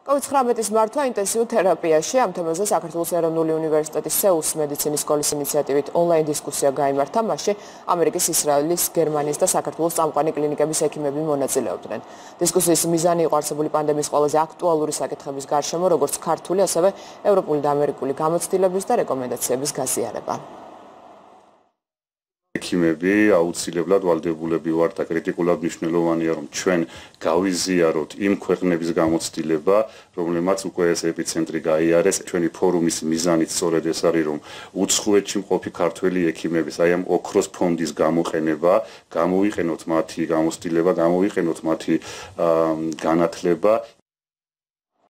COVID-19-ის მართვა ინტენსიურ თერაპიაში ამ თემაზე საქართველოს ეროვნული უნივერსიტეტის სეულის მედიცინის სკოლის ინიციატივით ონლაინ დისკუსია გაიმართა, მასში ამერიკის, ისრაელის, გერმანიის და საქართველოს წამყვანი კლინიკების ექიმები მონაწილეობდნენ. დისკუსიის მიზანი იყო არსებული პანდემიის ყველაზე აქტუალური საკითხების გარშემო, როგორც ქართული, ასევე ევროპული და ამერიკული გამოცდილების და რეკომენდაციების გაზიარება. ექიმები აუცილებლად ვალდებულები ვართ და კრიტიკულად მნიშვნელოვანია რომ ჩვენ გავიზიაროთ იმ ქვეყნების გამოცდილება, რომლებმაც უკვე ეს ეპიცენტრი გაიარეს. ჩვენი ფორუმის მიზანიც სწორედ ეს არის, რომ უცხოეთში მყოფი ქართველი ექიმების აი ამ ოქროს ფონდის გამოყენება, გამოვიყენოთ მათი გამოცდილება, გამოვიყენოთ მათი განათლება